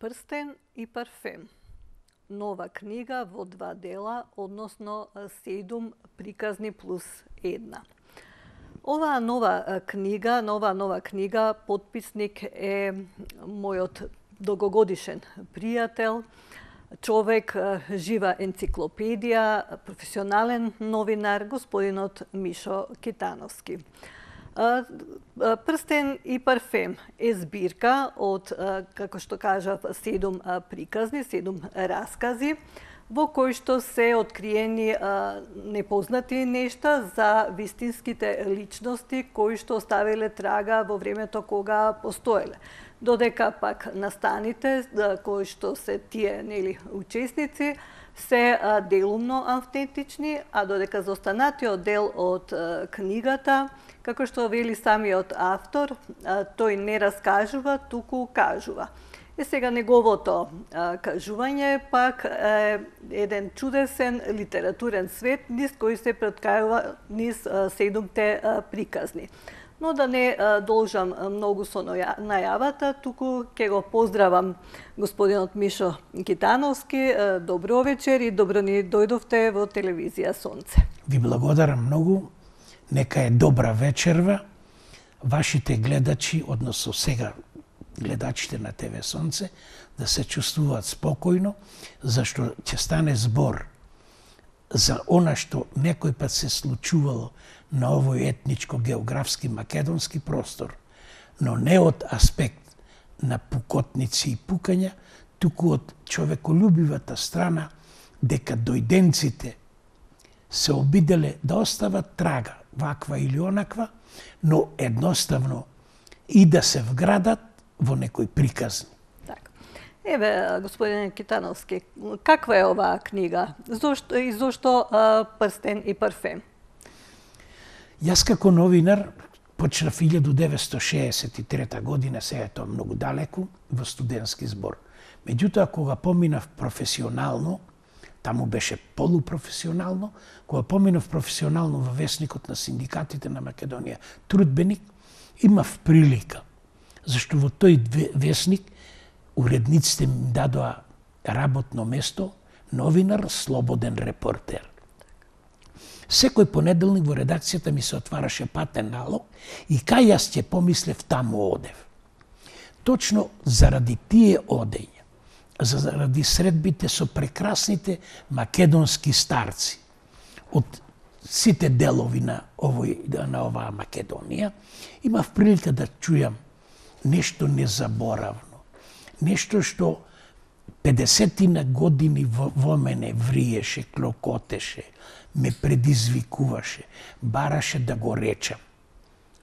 Прстен и парфем. Нова книга во 2 дела, односно 7 приказни плюс 1. Оваа нова книга, потписник е мојот долгогодишен пријател, човек, жива енциклопедија, професионален новинар, господинот Мишо Китановски. Прстен и парфем е збирка од, како што кажав, 7 приказни, 7 раскази, во кои што се откриени непознати нешта за вистинските личности кои што оставиле трага во времето кога постоеле. Додека пак настаните, кои што се тие учесници, се делумно автентични, а додека за останатиот дел од книгата, како што вели самиот автор, тој не раскажува, туку кажува. И сега неговото кажување пак е еден чудесен литературен свет низ кој се преткајува низ 7-те приказни. Но да не должам многу со најавата, туку ќе го поздравам господинот Мишо Китановски. Добро вечер и добро ни дојдовте во телевизија Сонце. Ви благодарам многу. Нека е добра вечерва. Вашите гледачи, односно сега гледачите на ТВ Сонце, да се чувствуваат спокојно, зашто ќе стане збор за она што некој пат се случувало на овој етничко-географски македонски простор, но не од аспект на пукотници и пукања, туку од човеколюбивата страна, дека дојденците се обиделе да остават трага, ваква или онаква, но едноставно и да се вградат во некои приказни. Еве, господин Китановски, каква е оваа книга? Зошто Прстен и парфем? Јас како новинар почнав 1963 година, сега е тоа многу далеку, во студентски збор. Меѓутоа, кога поминав професионално, таму беше полупрофесионално, кога поминав професионално во весникот на синдикатите на Македонија, Трудбеник, имав прилика, зашто во тој весник уредниците ми дадоа работно место, новинар, слободен репортер. Секој понеделник во редакцијата ми се отвараше патен налог и кај јас ќе помислев, таму одев. Точно заради тие одења, заради средбите со прекрасните македонски старци од сите делови на оваа Македонија, имав прилика да чујам нешто незаборавно, нешто што 50 години во мене вриеше, клокотеше, ме предизвикуваше, бараше да го речам.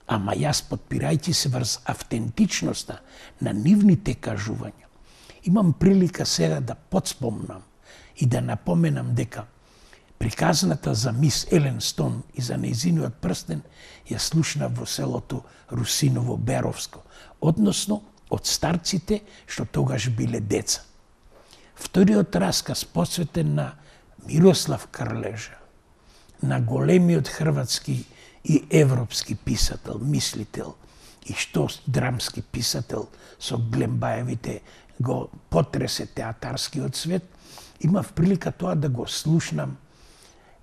Ама јас, подпирајќи се врз автентичноста на нивните кажувања, имам прилика сега да подспомнам и да напоменам дека приказната за мис Елен Стон и за нејзиниот прстен ја слушнав во селото Русиново Беровско, односно од старците што тогаш биле деца. Вториот расказ посветен на Мирослав Крлежа, на големиот хрватски и европски писател, мислител и што драмски писател со Глембаевите го потресе театарскиот свет, имав прилика тоа да го слушнам,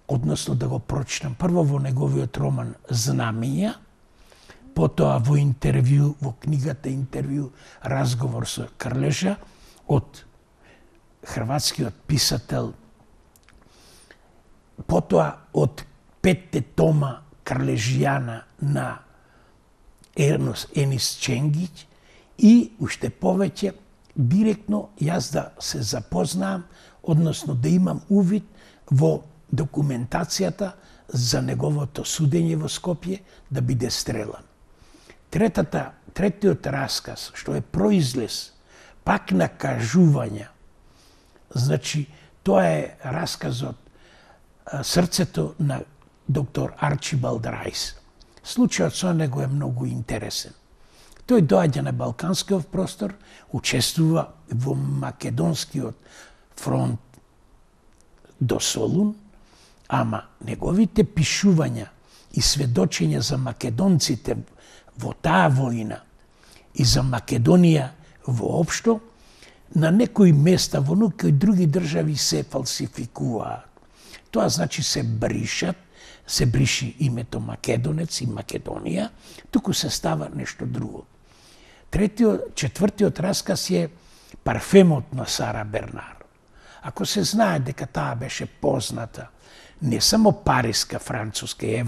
односно да го прочитам прво во неговиот роман Знамења, потоа во интервју, во книгата интервју, разговор со Крлежа од хрватскиот писател, потоа од 5 тома Крлежијана на Енис Ченгиќ и уште повеќе директно јас да се запознаам, односно да имам увид во документацијата за неговото судење во Скопје да биде стрелан. Третиот расказ, што е произлез пак на кажувања, значи тоа е расказот Срцето на доктор Арчибалд Рајс. Случајот со него е многу интересен. Тој доаѓа на Балканскиот простор, учествува во македонскиот фронт до Солун, ама неговите пишувања и сведочења за македонците во таа војна и за Македонија воопшто на некои места во некои други држави се фалсификуваат. Тоа значи се бриши името Македонец и Македонија, туку се става нешто друго. Четвртиот расказ е Парфемот на Сара Бернар. Ако се знае дека таа беше позната не само париска, француска и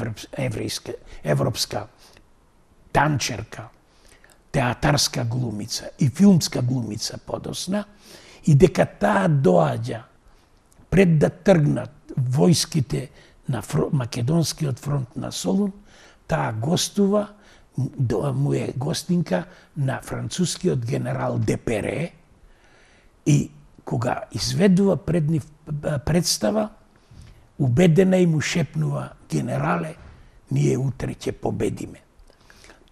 европска танчерка, театарска глумица и филмска глумица подосна, и дека таа доаѓа пред да тргнат војските на Македонскиот фронт на Солун, таа гостува, му е гостинка на францускиот генерал Депере, и кога изведува пред нив представа, убедена и му шепнува: генерале, ние утре ќе победиме.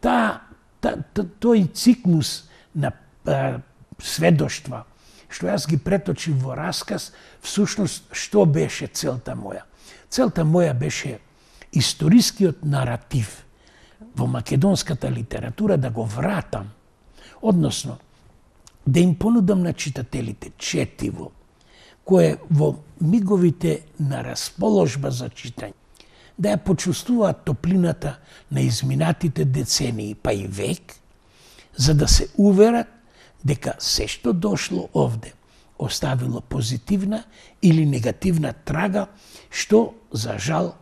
Тој циклус на сведоштва, што јас ги преточив во расказ, всушност што беше целта моја? Целта моја беше историскиот наратив во македонската литература да го вратам, односно да им понудам на читателите четиво, кое во миговите на расположба за читање, да ја почувствуваат топлината на изминатите децении, па и век, за да се уверат дека се што дошло овде оставило позитивна или негативна трага, што, за жал,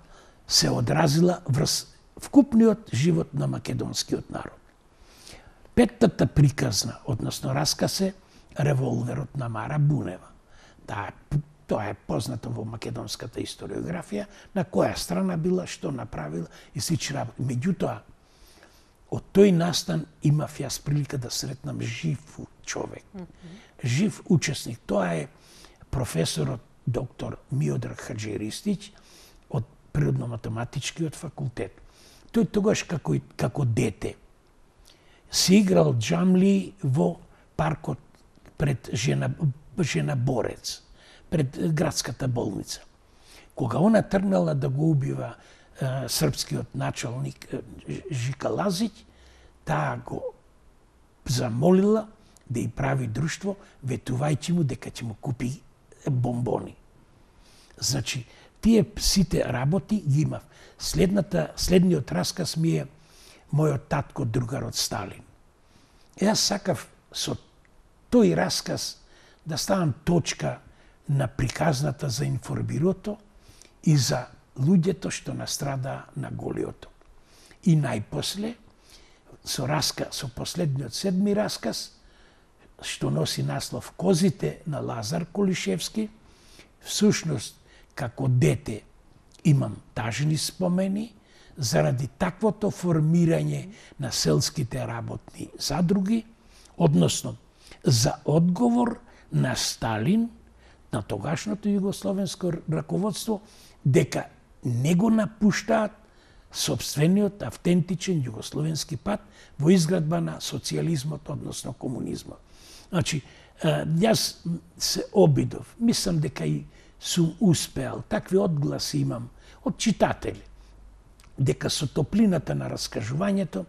се одразила врз вкупниот живот на македонскиот народ. Петтата приказна, односно расказ е Револверот на Мара Бунева. Тоа е познато во македонската историографија, на која страна била, што направила и слични работи. Меѓутоа, од тој настан имав јас прилика да сретнам жив човек, жив учесник. Тоа е професорот доктор Миодраг Хаџиристич од Природно-математичкиот факултет. Тој тогаш како дете се играл џамли во паркот пред жена Борец, пред градската болница. Кога она тргнала да го убива српскиот началник Жика Лазиќ, таа го замолила да ја прави друштво, ветувајќи му дека ќе му купи бомбони. Значи, тие сите работи ги имав. Следниот расказ ми е мојот татко, другарот Сталин. Јас сакав со тој расказ да ставам точка на приказната за информирото и за луѓето што настрадаа на Голиото. И најпосле, со последниот седми расказ, што носи наслов Козите на Лазар Колишевски, всушност, како дете имам тажни спомени заради таквото формирање на селските работни задруги, односно за одговор на Сталин, на тогашното југословенско раководство, дека не го напуштаат собствениот автентичен југословенски пат во изградба на социјализмот, односно комунизмот. Значи, јас се обидов, мислам дека и сум успеал, такви одгласи имам од читатели, дека со топлината на раскажувањето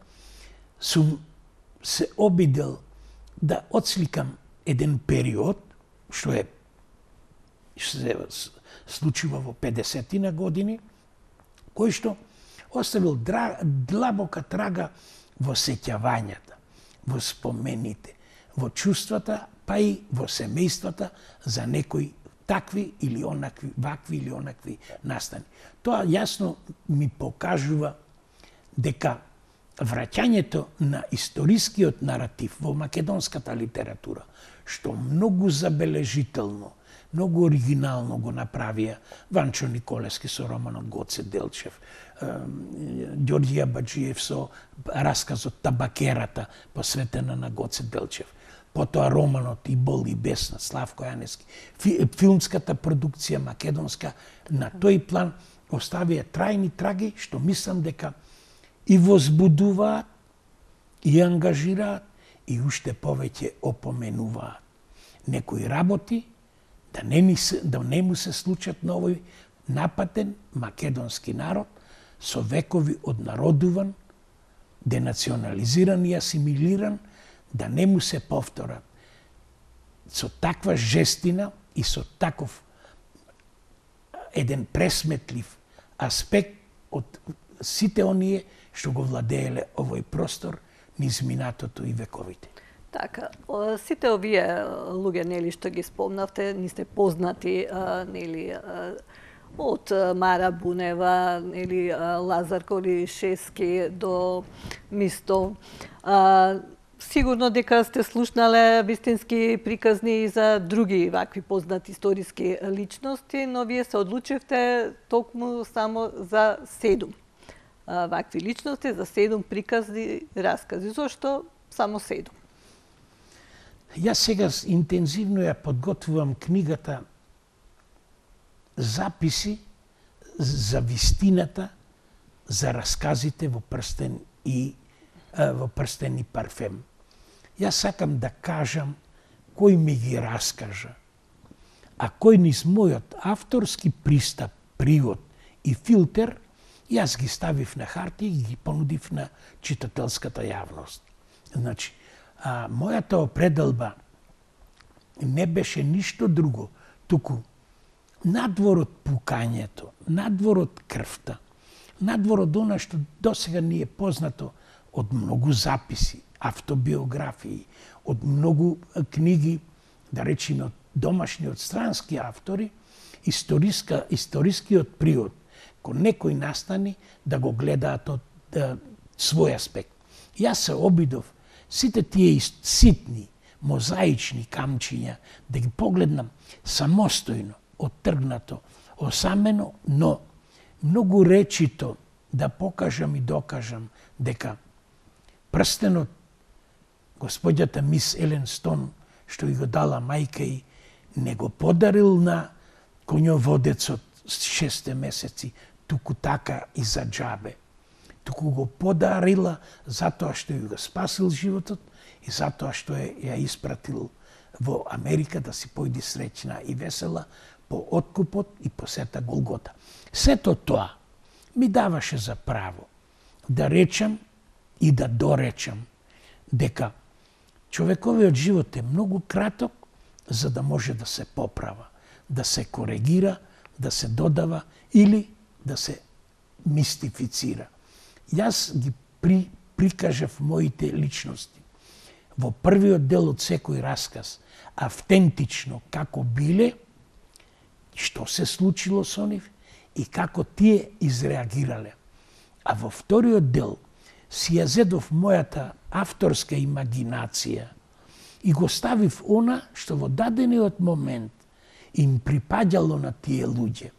сум се обидел да отсликам еден период, што се случува во 50-тина години, кој што оставил длабока трага во сеќавањата, во спомените, во чувствата, па и во семејствата за некои такви или онакви, вакви или онакви настани. Тоа јасно ми покажува дека враќањето на историскиот наратив во македонската литература, што многу забележително, многу оригинално го направија Ванчо Николевски со романот Гоце Делчев, Ѓорѓи Абаџиев со расказот Табакерата, посветена на Гоце Делчев, потоа романот И бол и бесна, Славко Јанески, филмската продукција македонска на тој план оставија трајни траги, што мислам дека и возбудуваат, и ангажираат, и уште повеќе опоменуваат некои работи, да не му се случат на овој напатен македонски народ со векови однародуван, денационализиран и асимилиран, да не му се повторат со таква жестина и со таков еден пресметлив аспект од сите оние што го владееле овој простор низ минатото и вековите. Така, сите овие луѓе, нели, што ги спомнавте, ни се познати, нели, од Мара Бунева, нели, Лазар Колишевски до Мистов. Сигурно дека сте слушнале вистински приказни и за други вакви познати историски личности, но вие се одлучивте токму само за 7 вакви личности, за 7 приказни раскази. Зошто само 7? Јас сега интензивно ја подготвувам книгата Записи за вистината за расказите во Прстен и парфем. Јас сакам да кажам кој ми ги раскажа, а кој низ мојот авторски пристап, привод и филтер, јас ги ставив на хартија и ги понудив на читателската јавност. Значи, мојата определба не беше ништо друго, туку надвор од пукањето, надвор од крвта, надвор од она што досега ни е познато од многу записи, автобиографии, од многу книги, да речеме од домашни, од странски автори, историскиот привод, кој некој настани да го гледаат од свој аспект. Јас се обидов сите тие ситни, мозаични камчиња да ги погледнам самостојно, оттргнато, осамено, но многу речито да покажам и докажам дека прстенот господјата мис Елен Стон, што ги го дала мајка и не го подарил на коњоводецот 6 месеци, туку така и за џабе. Туку го подарила затоа што ја го спасил животот и затоа што ја испратил во Америка да си појди среќна и весела по откупот и по сета Голгота. Сето тоа ми даваше за право да речам и да доречам дека човековиот живот е многу краток за да може да се поправа, да се коригира, да се додава или да се мистифицира. Јас ги прикажав моите личности во првиот дел од секој расказ, автентично како биле, што се случило со нив и како тие изреагирале. А во вториот дел си ја зедов мојата авторска имагинација и го ставив она што во дадениот момент им припаѓало на тие луѓе.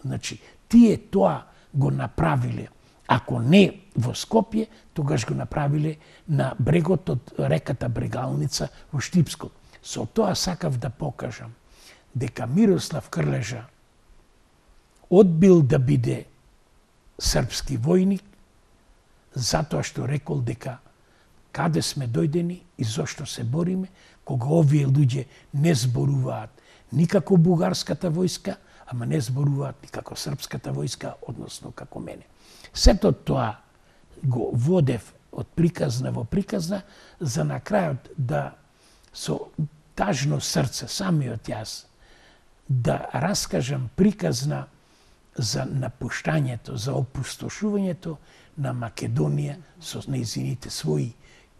Значи, тие тоа го направиле. Ако не во Скопје, тогаш го направиле на брегот од реката Брегалница во Штипско. Со тоа сакав да покажам дека Мирослав Крлежа одбил да биде српски војник затоа што рекол дека каде сме дојдени и зошто се бориме, кога овие луѓе не зборуваат никако бугарската војска, ама не зборуваат никако српската војска, односно како мене. Сето тоа го водев од приказна во приказна, за на крајот да со тажно срце, самиот јас, да раскажам приказна за напуштањето, за опустошувањето на Македонија со нејзините своји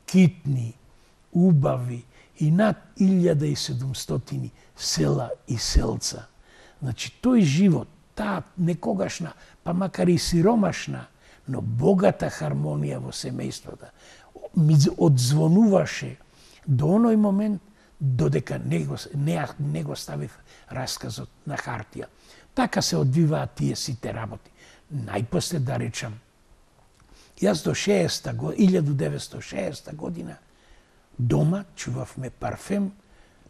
китни, убави и над 1700 села и селца. Значи, тој живот, таа некогашна, па макар и сиромашна, но богата хармонија во семејството, ми одзвонуваше до оној момент додека не го ставив расказот на хартија. Така се одвиваат тие сите работи. Најпосле да речам, јас до 1960 година дома чувавме парфем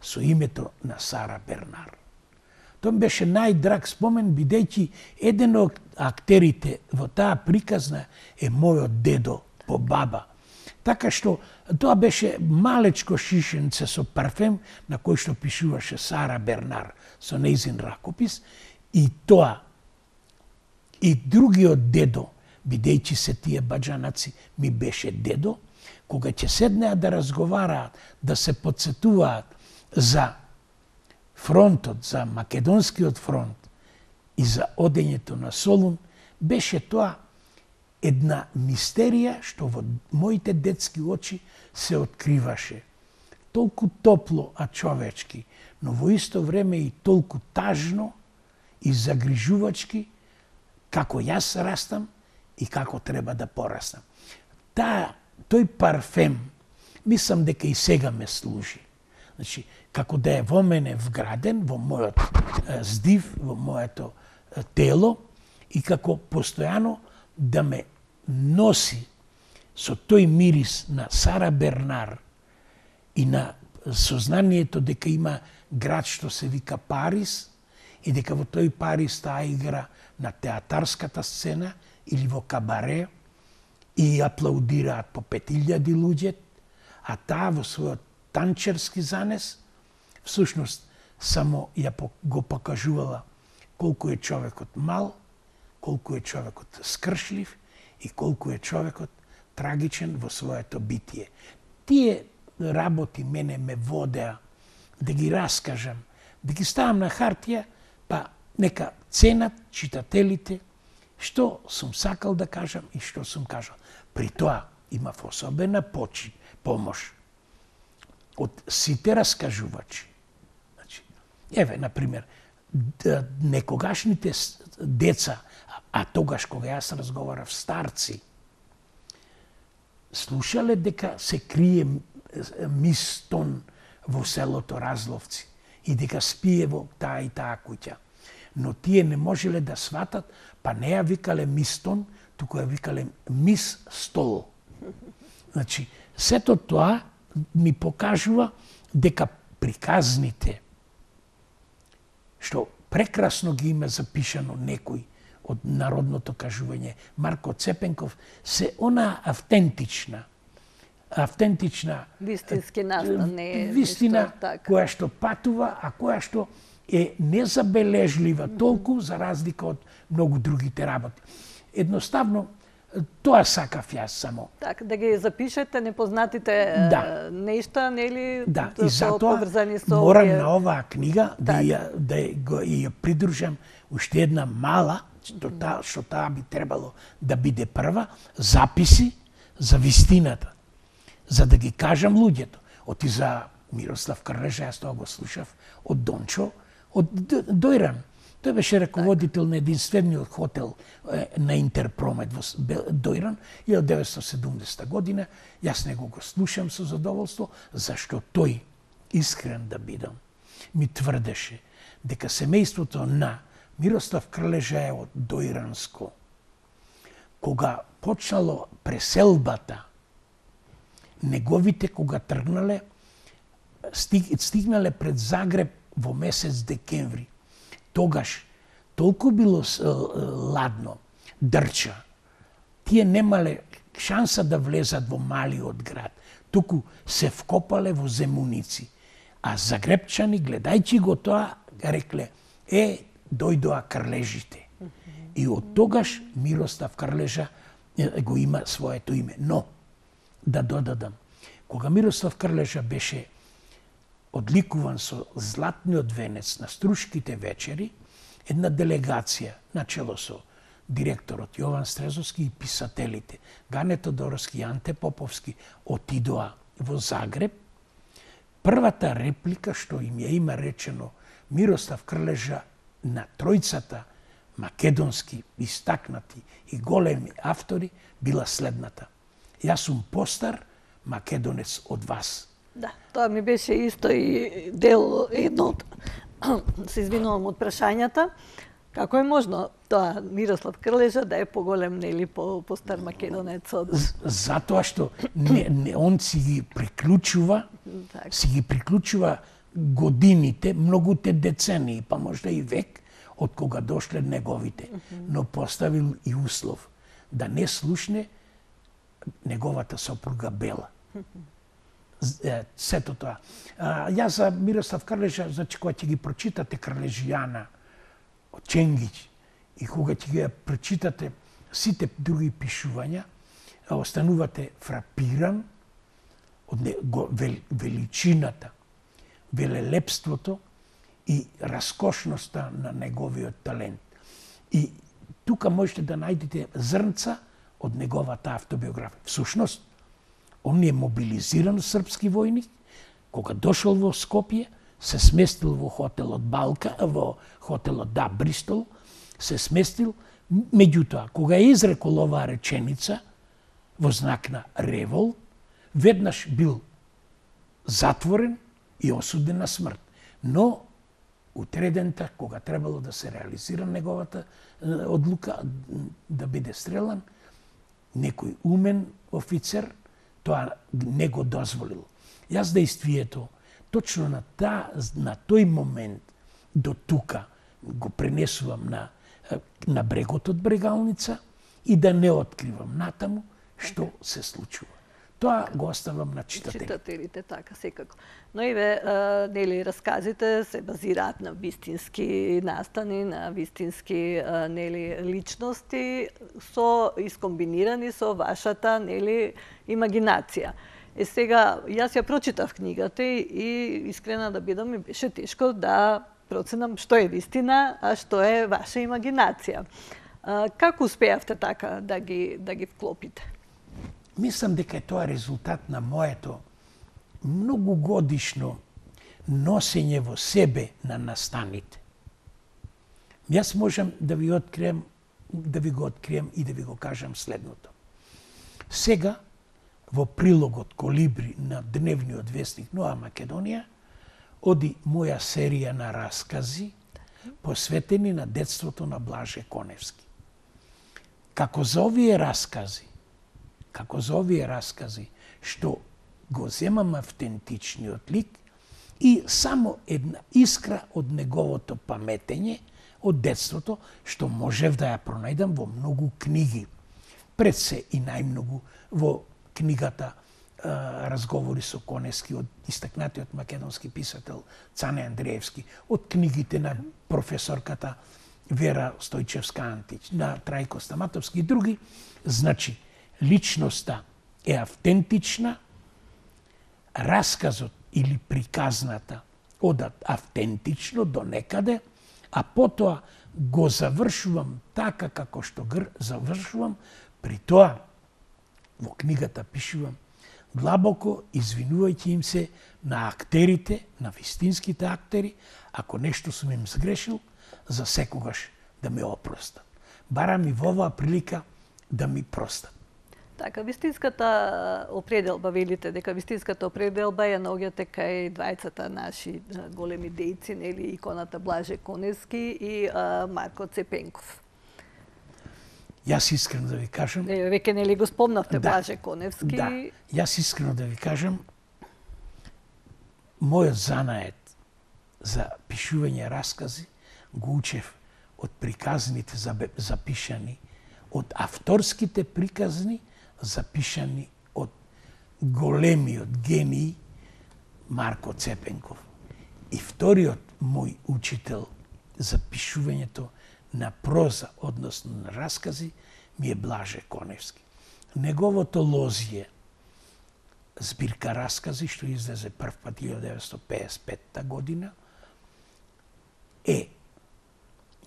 со името на Сара Бернар. Тоа беше најдраг спомен, бидејќи еден од актерите во таа приказна е мојот дедо по баба. Така што тоа беше малечко шишенце со парфем на кој што пишуваше Сара Бернар со нејзин ракопис и тоа и другиот дедо, бидејќи се тие баџанаци ми беше дедо, кога ќе седнеа да разговараат, да се подсетуваат за фронтот, за Македонскиот фронт и за одењето на Солун, беше тоа една мистерија што во моите детски очи се откриваше. Толку топло, а човечки, но во исто време и толку тажно и загрижувачки, како јас растам и како треба да порастам. Тој парфем, мислам дека и сега ме служи. Значи, како да е во мене вграден, во мојот здив, во моето тело, и како постојано да ме носи со тој мирис на Сара Бернар и на сознанието дека има град што се вика Париз и дека во тој Париз таа игра на театарската сцена или во кабаре и аплаудираат по 5000 луѓе, а таа во својот танчерски занес всушност само го покажувала колку е човекот мал, колку е човекот скршлив и колку е човекот трагичен во своето битие. Тие работи мене ме водеа да ги раскажам, да ги ставам на хартија, па нека ценат читателите што сум сакал да кажам и што сум кажал. При тоа имав особена помош од сите раскажувачи. Значи, еве, например, некогашните деца, а тогаш кога јас разговарав старци, слушале дека се крие Мистон во селото Разловци и дека спие во таа и таа куќа. Но тие не можеле да сватат, па не ја викале Мистон, туку ја викале Мис Стол. Значи, сето тоа ми покажува дека приказните, што прекрасно ги има запишано некој од народното кажување, Марко Цепенков, се она автентична, вистински настан, не е вистина која што патува, а која што е незабележлива толку за разлика од многу другите работи. Едноставно, тоа сакав јас само. Така, да ги запишете непознатите нешта, нели? Да, и затоа морам на оваа книга да ја придружам уште една мала, што таа би требало да биде прва, записи за вистината, за да ги кажам луѓето. Оти за Мирослав Крлежа, јас тоа го слушав од Дончо, од Дојран. Тој беше раководител на единствениот хотел на Интерпромет во Дојран, 1970 година. Јас него го слушам со задоволство, зашто тој, искрен да бидам, ми тврдеше дека семејството на Мирослав Крлежа е од Дојранско. Кога почнало преселбата, неговите кога тргнале, стигнале пред Загреб во месец декември. Тогаш толку било ладно, дрча. Тие немале шанса да влезат во малиот град, туку се вкопале во земуници. А загребчани, гледајќи го тоа, рекле, дојдоа Крлежите. И од тогаш Мирослав Крлежа го има своето име. Но, да додадам, кога Мирослав Крлежа беше одликуван со златниот венец на Струшките вечери, една делегација, начело со директорот Јован Стрезовски и писателите, Гане Тодоровски и Анте Поповски, отидоа во Загреб. Првата реплика што им ја има речено Мирослав Крлежа на тројцата македонски истакнати и големи автори била следната: јас сум постар македонец од вас. Да, тоа ми беше исто и дел едно од се извинувам од прашањата. Како е можно тоа Мирослав Крлежа да е поголем, нели, постар македонец од... Затоа што он си ги приклучува годините, многуте децении, па можда и век, од кога дошле неговите. Но поставил и услов да не слушне неговата сопруга Бела. Сето тоа. Јас за Мирослав Крлежа, значи, кога ќе ги прочитате Крлежијана од Ченгиќ и кога ќе ги прочитате сите други пишувања, останувате фрапиран од величината, велелепството и раскошноста на неговиот талент. И тука можете да најдете зрнца од неговата автобиографија. Всушност, он е мобилизиран српски војник, кога дошол во Скопје, се сместил во хотелот Балка, во хотелот Бристол, се сместил, меѓутоа, кога е изрекол оваа реченица во знак на револ, веднаш бил затворен и осуден на смрт. Но утредента, кога требало да се реализира неговата одлука да биде стрелан, некој умен офицер тоа не го дозволил. Јас действието точно на тој момент до тука го пренесувам на брегот од Брегалница и да не откривам натаму што се случува. Тоа го оставам на читателите. Читателите, така, секако. Но еве, нели, расказите се базираат на вистински настани, на вистински, нели, личности, искомбинирани со вашата, нели, имагинација. Сега, јас ја прочитав книгата и искрена да бидам, ми беше тешко да проценам што е вистина, а што е ваша имагинација. Како успеавте така да ги вклопите? Мислам дека е тоа резултат на моето многогодишно носење во себе на настаните. Јас можам да ви го открием и да ви го кажам следното. Сега, во прилогот Колибри на дневниот вестник Нова Македонија, оди моја серија на раскази посветени на детството на Блаже Коневски. Како за овие раскази, што го земам автентичниот лик и само една искра од неговото паметење од детството, што можев да ја пронајдам во многу книги. Пред се и најмногу во книгата Разговори со Коневски од истакнатиот македонски писател Цане Андреевски, од книгите на професорката Вера Стојчевска-Антич, на Трајко Стаматовски и други. Значи, личноста е автентична, расказот или приказната одат автентично до некаде, а потоа го завршувам така како што завршувам, при тоа во книгата пишувам длабоко извинувајќи им се на актерите, на вистинските актери, ако нешто сум им сгрешил, за секогаш да ме опростат. Барам и во оваа прилика да ми простат. Така, вистинската определба, велите дека вистинската определба ја наоѓате кај двајцата наши големи дејци, нели, иконата Блаже Коневски и Марко Цепенков. Јас искрено да ви кажам... Веќе нели го спомнавте Блаже Коневски. Да, јас искрено да ви кажам, мојот занаед за пишување раскази го учев од приказните запишани, од авторските приказни запишани од големиот гений Марко Цепенков. И вториот мој учител за пишувањето на проза, односно на раскази, ми е Блаже Коневски. Неговото лозие, збирка раскази, што излезе прв пат 1955 година, е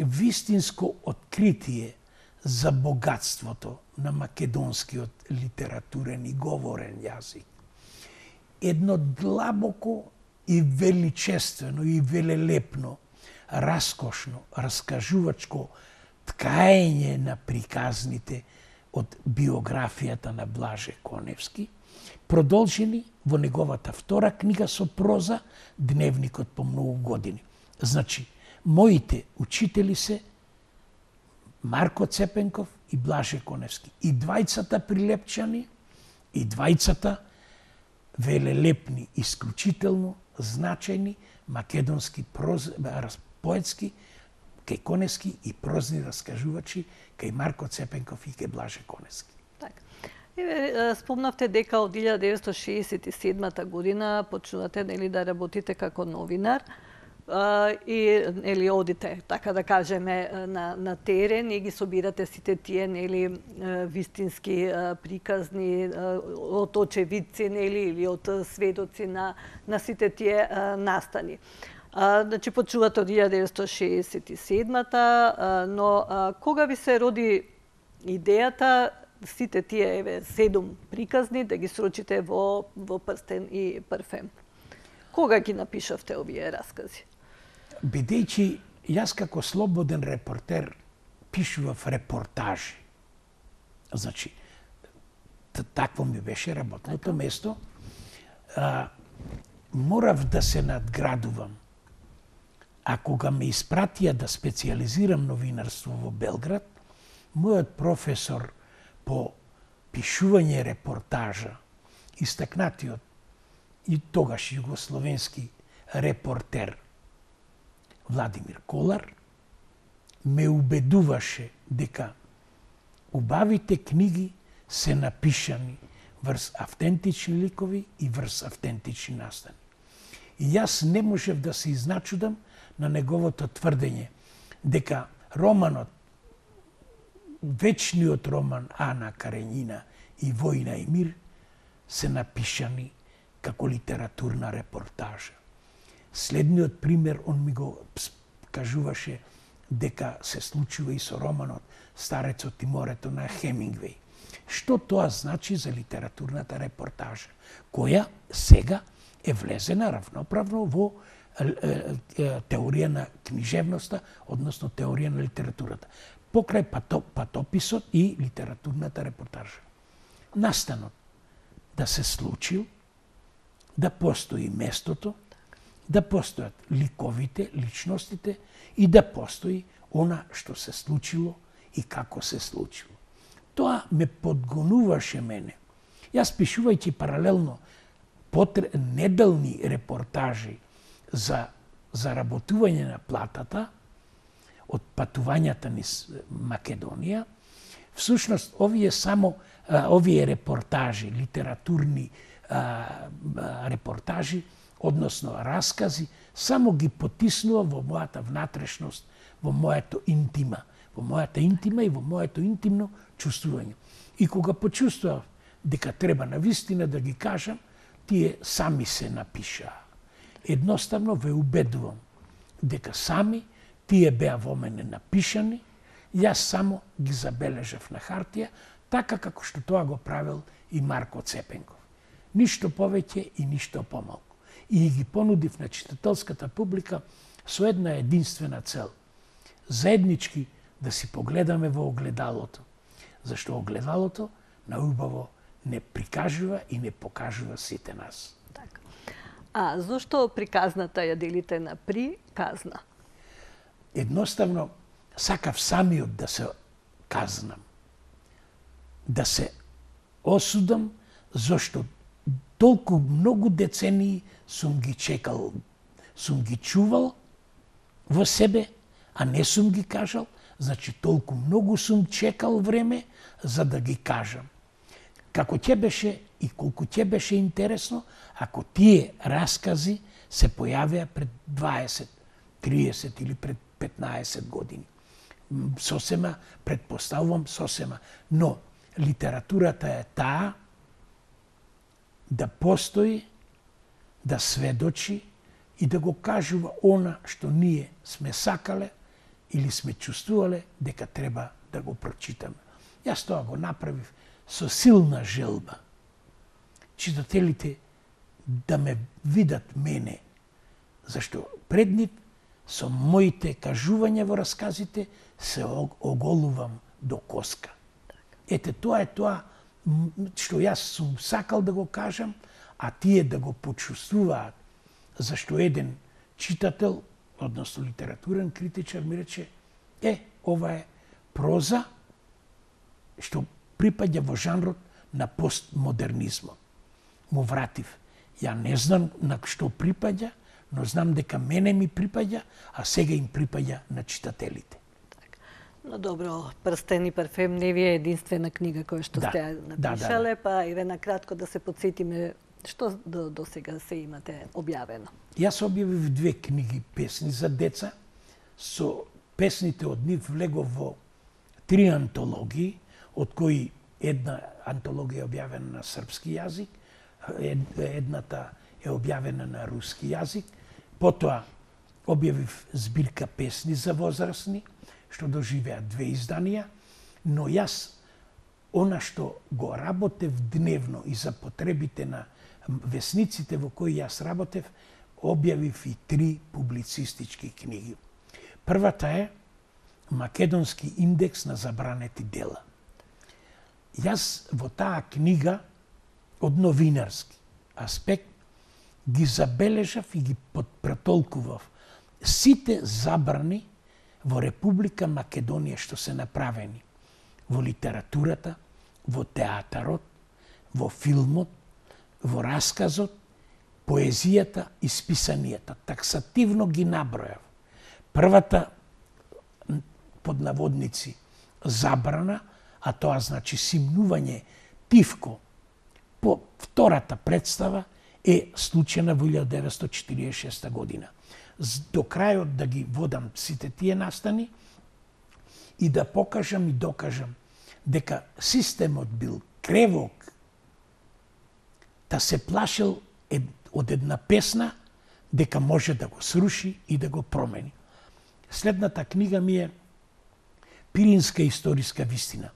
вистинско откритие за богатството на македонскиот литературен и говорен јазик. Едно длабоко и величествено и велелепно, раскошно, раскажувачко ткаење на приказните од биографијата на Блаже Коневски, продолжени во неговата втора книга со проза, Дневникот по многу години. Значи, моите учители се Марко Цепенков и Блаже Коневски. И двајцата прилепчани, и двајцата велелепни, исклучително значајни македонски поетски, кај Коневски и прозни раскажувачи кај Марко Цепенков и кај Блаже Коневски. Така. Спомнавте дека од 1967 година почнувате, нели, да работите како новинар и, нели, одите, така да кажеме, на терен и ги собирате сите тие, нели, вистински приказни од очевидци, нели, или од сведоци на сите тие настани. Значи, почувате од 1967-та, но кога ви се роди идејата сите тие 7 приказни да ги срочите во Прстен и парфем? Кога ги напишавте овие раскази? Бидејќи јас како слободен репортер пишував репортажи. Значи, такво ми беше работното место. Морав да се надградувам. А кога ме испратија да специализирам новинарство во Белград, мојот професор по пишување репортажа, истакнатиот и тогаш југословенски репортер Владимир Колар, ме убедуваше дека убавите книги се напишани врз автентични ликови и врз автентични настани. И јас не можев да се изначудам на неговото тврдење дека романот, вечниот роман Ана Каренина и Војна и мир се напишани како литературна репортажа. Следниот пример, он ми го кажуваше дека се случува и со романот Старецот и морето на Хемингвеј. Што тоа значи за литературната репортажа, која сега е влезена равноправно во теорија на книжевноста, односно теорија на литературата, покрај патописот и литературната репортажа. Настанот да се случил, да постои местото, да постојат ликовите, личностите и да постои она што се случило и како се случило. Тоа ме подгонуваше мене. Јас пишувајќи паралелно неделни репортажи за заработување на платата од патувањата низ Македонија, всушност овие репортажи, литературни репортажи, односно раскази, само ги потиснува во мојата внатрешност, во мојата интима и во моето интимно чувствување. И кога почувствував дека треба навистина да ги кажам, тие сами се напишаа. Едноставно ве убедувам дека сами тие беа во мене напишани, јас само ги забележав на хартија, така како што тоа го правил и Марко Цепенков. Ништо повеќе и ништо помалку. И ги понудив на читателската публика со една единствена цел. Заеднички да си погледаме во огледалото. Зашто огледалото наубаво не прикажува и не покажува сите нас. Така. А зошто приказната ја делите на приказна? Едноставно, сакав самиот да се казнам. Да се осудам, зашто толку многу децении сум ги чекал, сум ги чувал во себе, а не сум ги кажал, значи толку многу сум чекал време за да ги кажам. Како ќе беше и колку ќе беше интересно, ако тие раскази се појавеа пред 20, 30 или пред 15 години. Сосема, предпоставувам сосема. Но литературата е таа да постои, да сведочи и да го кажува она што ние сме сакале или сме чувствувале дека треба да го прочитаме. Јас тоа го направив со силна желба. Читателите да ме видат мене, зашто пред нив со моите кажувања во расказите се оголувам до коска. Ете, тоа е тоа што јас сум сакал да го кажам, а тие да го почувствуваат, зашто еден читател, односно литературен критичар, ми рече, ова е проза што припаѓа во жанрот на постмодернизмот. Му вратив. Ја не знам на што припаѓа, но знам дека мене ми припаѓа, а сега им припаѓа на читателите. Но добро, Прстен и парфем не ви е единствена книга која што сте напишале, па еве на кратко да се потсетиме што до сега се имате објавено. Јас објавив 2 книги песни за деца, со песните од нив влегов во 3 антологии, од кои една антологија е објавена на српски јазик, едната е објавена на руски јазик, потоа објавив збирка песни за возрастни, што доживеа 2 изданија, но јас она што го работев дневно и за потребите на весниците во кои јас работев, објавив и 3 публицистички книги. Првата е Македонски индекс на забранети дела. Јас во таа книга од новинарски аспект ги забележав и ги претолкував сите забрани во Република Македонија што се направени во литературата, во театарот, во филмот, во расказот, поезијата и списанијата. Таксативно ги набројав. Првата, под наводници, забрана, а тоа значи симнување тивко по втората представа е случена во 1946 година. До крајот да ги водам сите тие настани и да покажам и докажам дека системот бил кревок, да се плашил од една песна дека може да го сруши и да го промени. Следната книга ми е Пиринска историска вистина.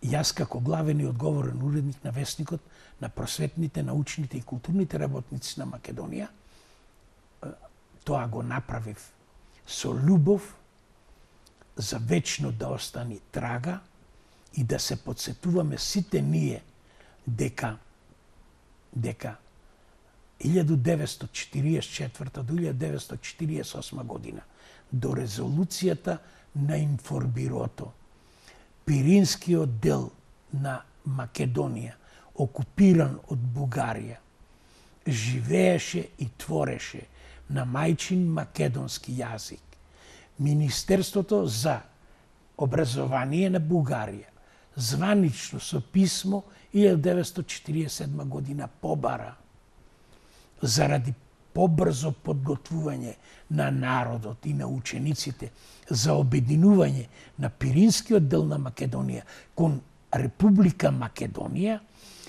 Јас како главен и одговорен уредник на Весникот, на просветните, научните и културните работници на Македонија, тоа го направив со љубов, за вечно да остани трага и да се подсетуваме сите ние дека 1944 до 1948 година до резолуцијата на Информбирото, Пиринскиот дел на Македонија, окупиран од Бугарија, живееше и твореше на мајчин македонски јазик. Министерството за образование на Бугарија званично со писмо 1947 година побара заради побрзо подготвување на народот и на учениците за обединување на Пиринскиот дел на Македонија кон Република Македонија,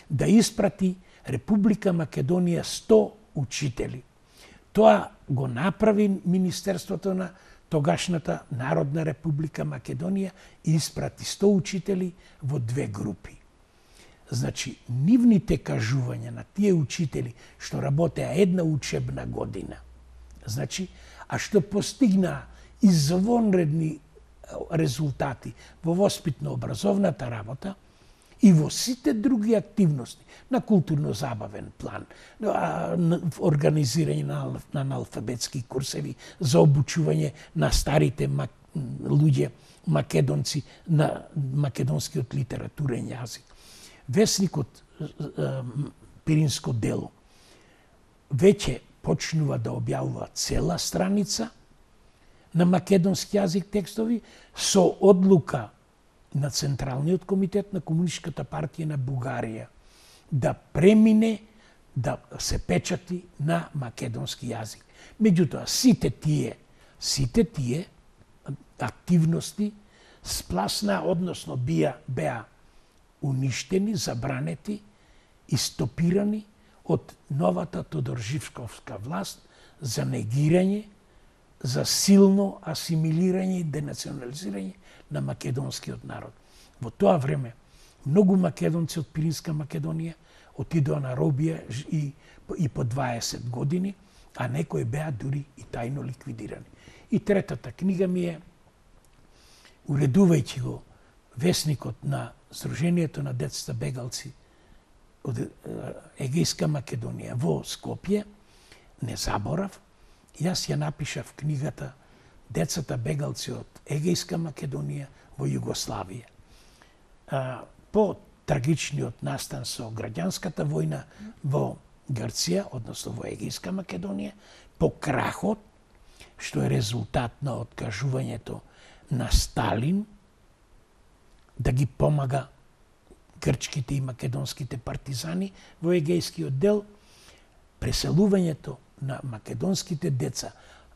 да испрати Република Македонија 100 учители. Тоа го направи Министерството на тогашната Народна Република Македонија и испрати 100 учители во 2 групи. Значи, нивните кажувања на тие учители што работеа една учебна година, значи, а што постигнаа извонредни резултати во воспитно-образовната работа и во сите други активности на културно-забавен план, организирање на аналфабетски курсеви за обучување на старите луѓе македонци на македонскиот литературен јазик. Весникот Пиринско дело веќе почнува да објавува цела страница на македонски јазик текстови со одлука на Централниот комитет на Комунистичката партија на Бугарија да премине да се печати на македонски јазик. Меѓутоа, сите тие активности спласна, односно беа уништени, забранети и стопирани од новата Тодор-Живковска власт за негирање, за силно асимилирање и денационализирање на македонскиот народ. Во тоа време многу македонци од Пиринска Македонија отидоа на робија и по 20 години, а некои беа дури и тајно ликвидирани. И третата книга ми е, уредувајќи го Весникот на Сдруженијето на децата бегалци од Егејска Македонија во Скопје, не заборав, јас ја напишав книгата Децата бегалци од Егејска Македонија во Југославија. По трагичниот настан со граѓанската војна во Грција, односно во Егејска Македонија, по крахот, што е резултат на откажувањето на Сталин да ги помага грчките и македонските партизани во Егејскиот дел, преселувањето на македонските деца,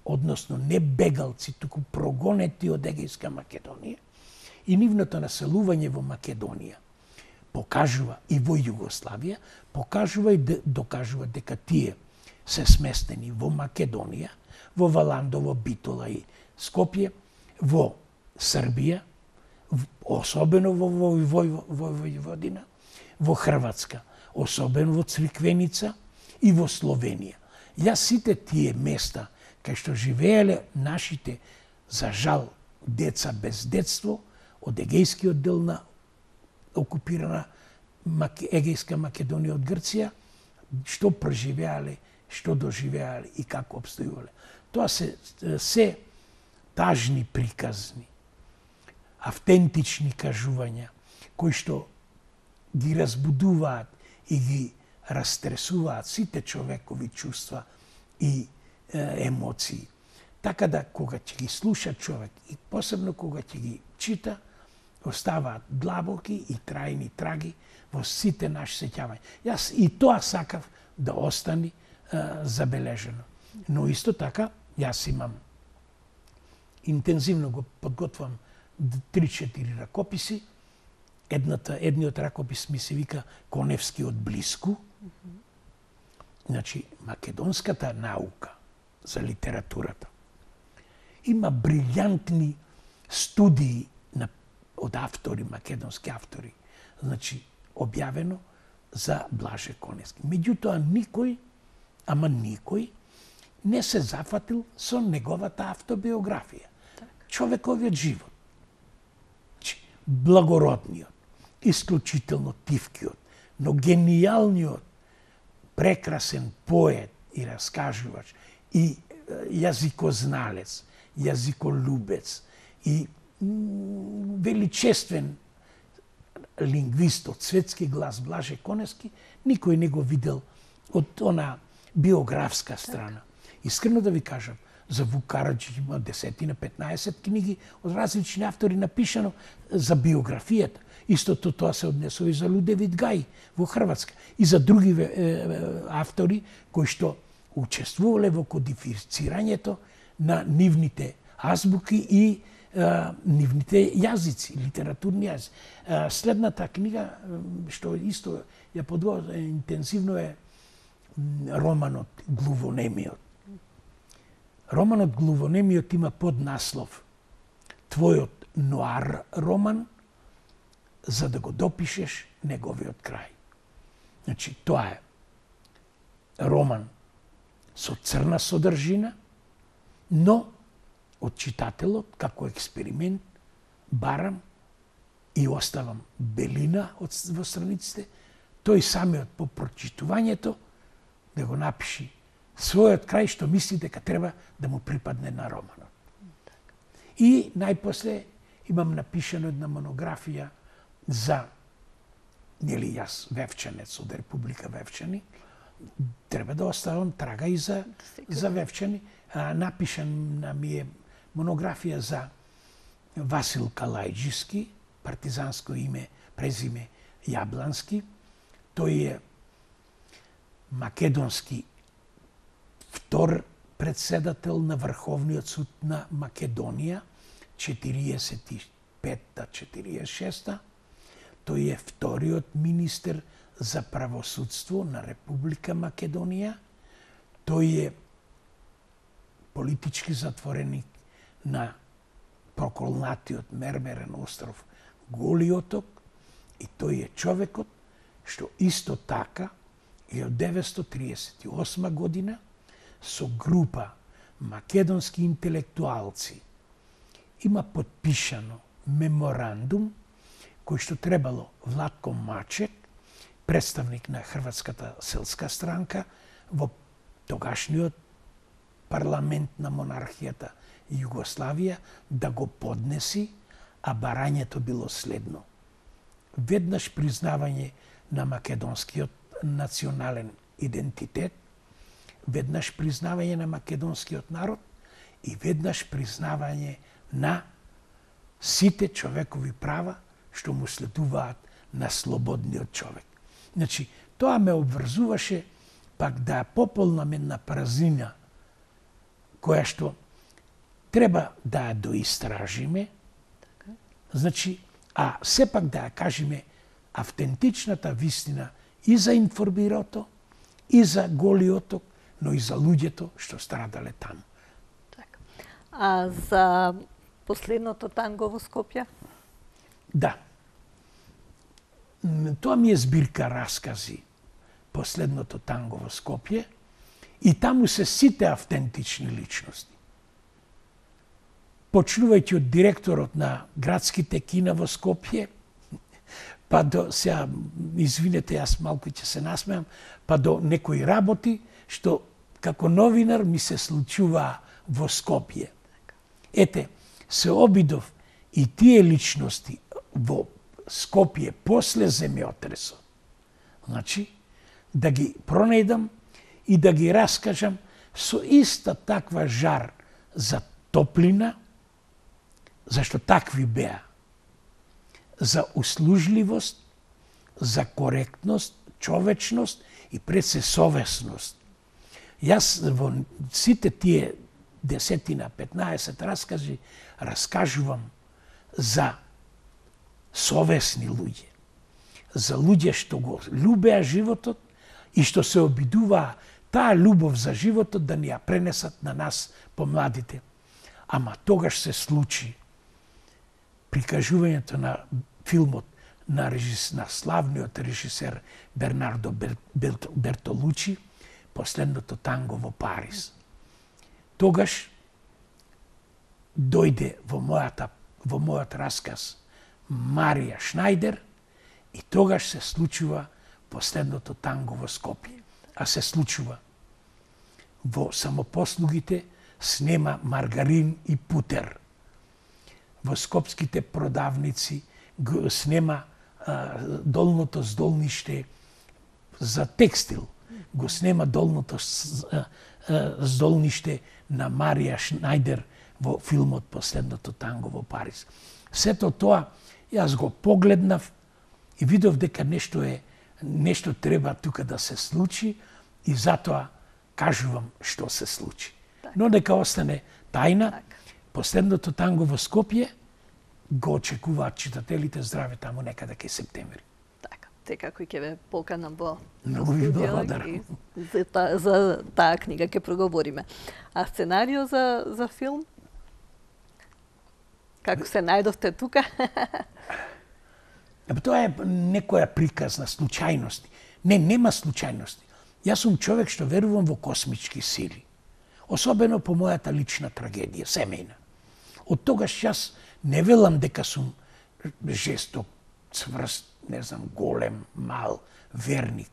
односно не бегалци, туку прогонети од Егејска Македонија, и нивното населување во Македонија покажува и во Југославија, покажува и докажува дека тие се сместени во Македонија, во Валандово, Битола и Скопје, во Србија, особено во Војводина, во Хрватска, особено во Цриквеница и во Словенија. Јас сите тие места кај што живееле нашите, за жал, деца без детство, од Егејскиот дел на окупирана Егејска Македонија од Грција, што преживеале, што доживеале и како обстојувале. Тоа се тажни приказни, автентични кажувања, кои што ги разбудуваат и ги растресуваат сите човекови чувства и емоции. Така да, кога ќе ги слуша човек, и посебно кога ќе ги чита, оставаат длабоки и трајни траги во сите наши сеќавања. Јас и тоа сакав да остани забележено. Но исто така, јас имам интензивно го подготвам 3-4 ракописи. Едниот ракопис ми се вика Коневски од блиску. Значи, македонската наука за литературата има брилјантни студии од автори, македонски автори, значи, објавено за Блаже Коневски. Меѓутоа, никој не се зафатил со неговата автобиографија. Човековиот живот. Значи, благородниот, исклучително тивкиот, но генијалниот, прекрасен поет и раскажувач, и јазикозналец, јазиколюбец, и величествен лингвист од светски глас Блаже Коневски, никој не го видел од она биографска страна. Искрено да ви кажам, за Вук Караджиќ има 10-15 книги од различни автори напишано за биографијата. Истото тоа се однесува и за Людевит Гај во Хрватска и за други автори кои што учествувале во кодифицирањето на нивните азбуки и нивните јазици, литературни јазици. Следната книга, што исто ја подготвила интензивно, е романот Глувонемиот. Романот Глувонемиот има поднаслов Твојот ноар роман, за да го допишеш неговиот крај. Значи, тоа е роман со црна содржина, но од читателот, како експеримент, барам и оставам белина во страниците, тој самиот по прочитувањето да го напиши својот крај, што мисли дека треба да му припадне на романот. И најпосле имам напишано една монографија за, нели јас Вевчанец од Република Вевчани, треба да оставам трага и за Вевчани. Напишана ми е монографија за Васил Калајџиски, партизанско име, презиме Јаблански. Тој е македонски втор председател на Врховниот суд на Македонија, 45-46. Тој е вториот министер за правосудство на Република Македонија. Тој е политички затвореник на проколнатиот мермерен остров Голи оток, и тој е човекот што исто така 1938 година со група македонски интелектуалци има подпишано меморандум кој што требало Владко Мачек, представник на Хрватската селска странка во тогашниот парламент на монархијата Југославија, да го поднеси, а барањето било следно. Веднаш признавање на македонскиот национален идентитет, веднаш признавање на македонскиот народ и веднаш признавање на сите човекови права што му следуваат на слободниот човек. Значи, тоа ме обврзуваше пак да пополнам една празнина која што треба да ја доистражиме, значи, а сепак да ја кажеме автентичната вистина и за Информбирото, и за Голи оток, но и за луѓето што страдале таму. Така. А за последното танго во Скопје? Да. Тоа ми е збирка раскази Последното танго во Скопје и таму се сите автентични личности. Почнувајќи од директорот на градските кина во Скопје, па до, сега, извинете, јас малку ќе се насмеам, па до некои работи, што како новинар ми се случува во Скопје. Ете, се обидов и тие личности во Скопје после земјотресот. Значи, да ги пронајдам и да ги раскажам со иста таква жар за топлина, зашто такви беа, за услужливост, за коректност, човечност и пред се совесност. Јас во сите тие 10-15 раскази раскажувам за совесни луѓе, за луѓе што го љубеа животот и што се обидуваа таа љубов за животот да ни ја пренесат на нас помладите. Ама тогаш се случи прикажувањето на филмот на славниот режисер Бернардо Бертолучи, Последното танго во Париз. Тогаш дојде во мојот расказ Марија Шнајдер и тогаш се случува Последното танго во Скопје. А се случува во самопослугите снема Маргарин и Путер. Во скопските продавници снема долното здолниште за текстил. Го снема долното здолниште на Марија Шнајдер во филмот Последното танго во Париз. Сето тоа јас го погледнав и видов дека нешто треба тука да се случи и затоа кажувам што се случи. Но нека остане тајна. Последното танго во Скопје го очекуваат читателите здраве таму некаде кај септември. Така, секако ќе ве поканам во Многу ви благодарам. За таа книга ќе проговориме. А сценарио за филм? Како се најдовте тука? Тоа е некоја приказна случајности. Нема случајности. Јас сум човек што верувам во космички сили. Особено по мојата лична трагедија, семејна. Од тогаш јас не велам дека сум жесток, цврст, не знам, голем, мал, верник.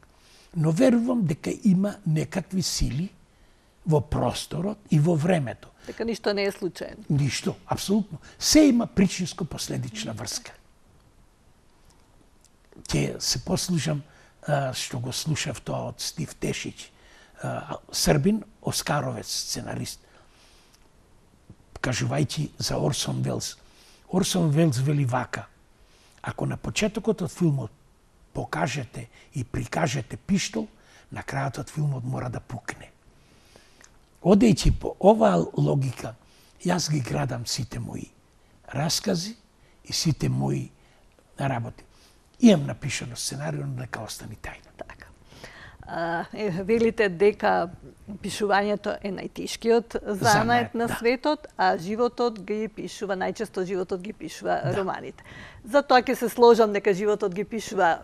Но верувам дека има некакви сили во просторот и во времето. Дека ништо не е случајно. Ништо, апсолутно. Се има причинско-последична врска. Ќе се послушам што го слушав тоа од Стив Тешич, Србин, оскаровец сценарист, кажувајќи за Орсон Велс. Орсон Велс вели вака: ако на почетокот од филмот покажете и прикажете пиштол, на крајот од филмот мора да пукне. Одејќи по оваа логика, јас ги градам сите мои раскази и сите мои работи. Имам напишано сценарио, но нека остани тајна. Така. Велите дека пишувањето е најтешкиот занает на светот, а животот ги пишува, најчесто животот ги пишува романите. Затоа ќе се сложам дека животот ги пишува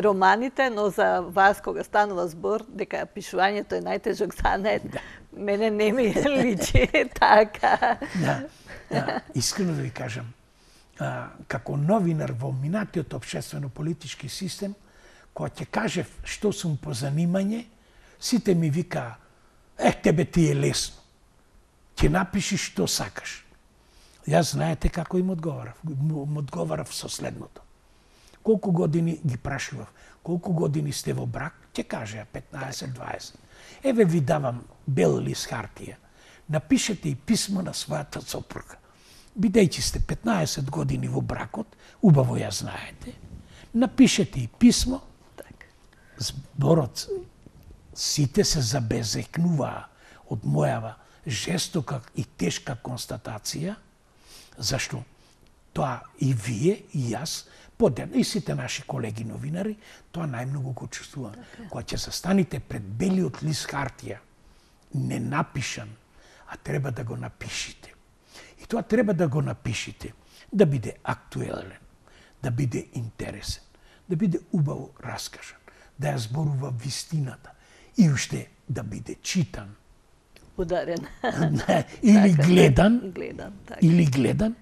романите, но за вас кога станува збор дека пишувањето е најтежок занает, мене не ми личи така. Искрено да ви кажам, како новинар во минатиот општествено-политички систем, кога ќе кажев што сум по занимање, сите ми викаа: тебе ти е лесно. Ќе напишиш што сакаш. Јас знаете како им одговарав? Одговарав со следното. Колку години ги прашував? Колку години сте во брак? Ќе кажеа 15-20. Еве ви давам бел лист хартија. Напишете и писмо на својата сопруга. Бидејќи сте 15 години во бракот, убаво ја знаете, напишете и писмо. Зборот сите се забезекнуваа од мојава жестока и тешка констатација, зашто тоа и вие, и јас, и сите наши колеги новинари, тоа најмногу го чувствувам. Кога ќе застаните пред белиот лист хартија не напишан, а треба да го напишите. И тоа треба да го напишите, да биде актуелен, да биде интересен, да биде убаво раскажан, да ја зборува вистината и уште да биде читан. Подарен. Или гледан. Така. Или гледан.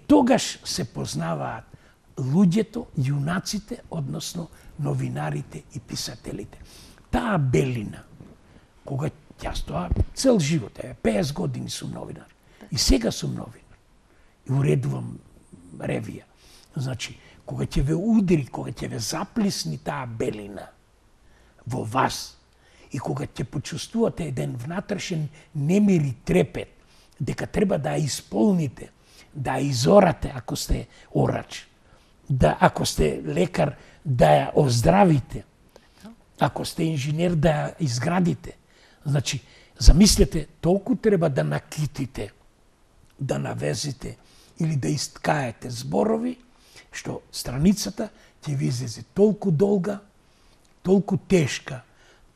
Тогаш се познаваат луѓето, јунаците, односно новинарите и писателите. Таа белина, кога јас тоа цел живот, 50 години сум новинар. И сега сум новинар. И уредувам ревија. Значи, кога ќе ве удри, кога ќе ве заплисни таа белина во вас, и кога ќе почувствувате еден внатрешен немир и трепет, дека треба да ја исполните, да ја изорате ако сте орач, да ако сте лекар да ја оздравите, ако сте инженер да ја изградите. Значи, замислете, толку треба да накитите, да навезите или да искаете зборови, што страницата ќе ви излезе толку долга, толку тешка,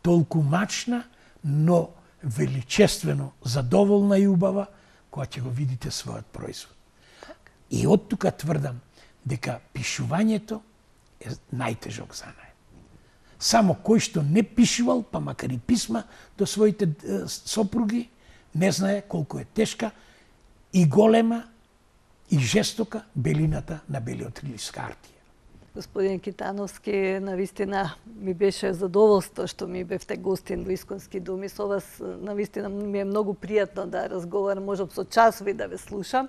толку мачна, но величествено задоволна и убава, кога ќе го видите својот производ. И од тука тврдам дека пишувањето е најтежок занаед. Само кој што не пишувал, па макар и писма до своите сопруги, не знае колку е тешка и голема и жестока белината на белиот лист хартија. Господин Китановски, навистина ми беше задоволство што ми бевте гостин во Исконски дом и со вас навистина ми е многу пријатно да разговарам, можам со часови да ве слушам,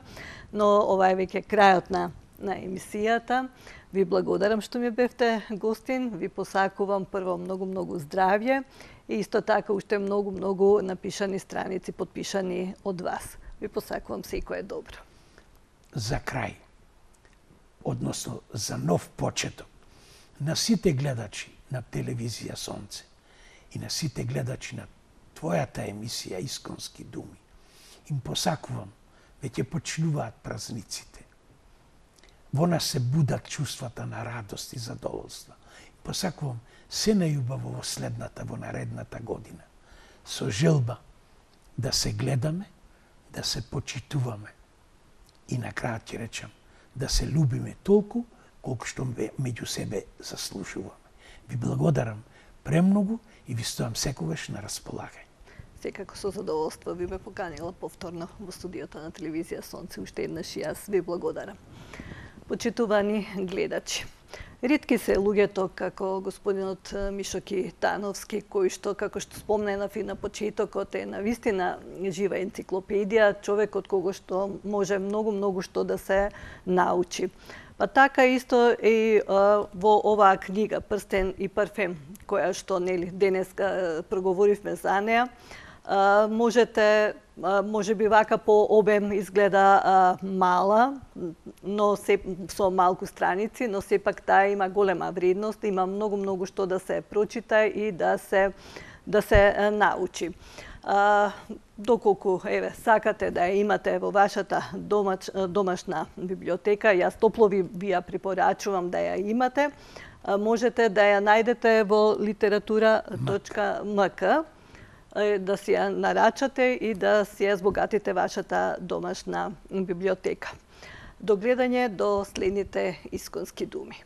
но ова е веќе крајот на емисијата. Ви благодарам што ми бевте гостин, ви посакувам прво многу здравје и исто така уште многу напишани страници подпишани од вас. Ви посакувам секое добро. За крај, односно за нов почеток, на сите гледачи на телевизија Сонце и на сите гледачи на твојата емисија Исконски думи, им посакувам, веќе почнуваат празниците. Во нас се будат чувствата на радост и задоволство. Посакувам се најубаво во следната, во наредната година, со желба да се гледаме, да се почитуваме и на крајот ќе речам, да се любиме толку колку што меѓу себе заслужуваме. Ви благодарам премногу и ви стојам секогаш на располагање. Секако со задоволство би ме поканила повторно во студиото на телевизија Сонце. Уште еднаш и јас ви благодарам. Почитувани гледачи, ретки се луѓето како господинот Мишо Китановски, кој што, како што спомненав и на почетокот, е навистина жива енциклопедија, човек од кого што може многу што да се научи. Па така исто и во оваа книга Прстен и парфем, која што денес проговоривме за неа, може би вака по обем изгледа мала, но со малку страници, но сепак таа има голема вредност, има многу што да се прочита и да се научи. Доколку сакате да ја имате во вашата домашна библиотека, јас топло ви ја препорачувам да ја имате, можете да ја најдете во literatura.mk, да си ја нарачате и да си ја збогатите вашата домашна библиотека. До гледање до следните Исконски думи.